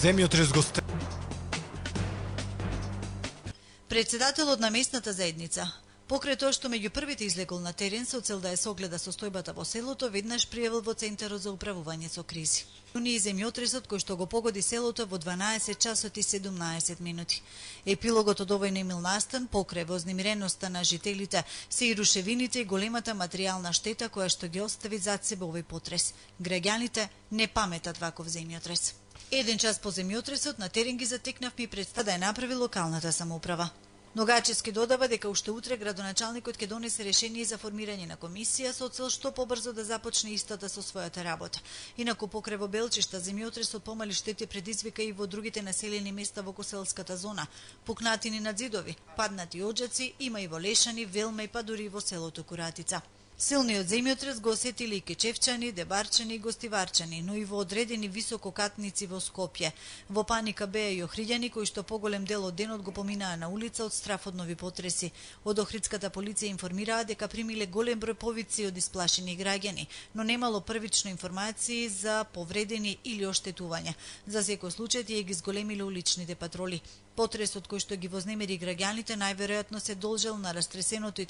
Земјотрес го Председателот на местната заедница, покрај тоа што меѓу првите излегол на терен со цел да ја согледа состојбата во селото, веднаш пријавил во Центарот за управување со кризи. Уни земјотресот кој што го погоди селото во 12 часот и 17 минути. Епилогот од овој немил настан, покрај вознемиреноста на жителите, се и рушевините и големата материјална штета која што ги остави зад себе овој потрес. Граѓаните не паметат ваков земјотрес. Еден час по земјотресот на терен ги затекнавме и представа да ја направи локалната самоуправа. Ногачевски додава дека уште утре градоначалникот ќе донесе решение за формирање на комисија со цел што побрзо да започне истата со својата работа. Инаку покрај во Белчишта земјотресот помали штети предизвика и во другите населени места во коселската зона. Пукнатини на ѕидови, паднати оџаци има и во Лешани, Велма и па дури и во селото Куратица. Силниот земјотрес го осетили и кечевчани, дебарчани и гостиварчани, но и во одредени висококатници во Скопје. Во паника беа и охриѓани кои што поголем дел од денот го поминаа на улица од страф од нови потреси. Од охридската полиција информираа дека примиле голем број повици од исплашени граѓани, но немало првично информации за повредени или оштетувања. За секој случај тие ги зголемиле уличните патроли. Потресот кој што ги вознемери граѓаните најверојатно се должел на растресеното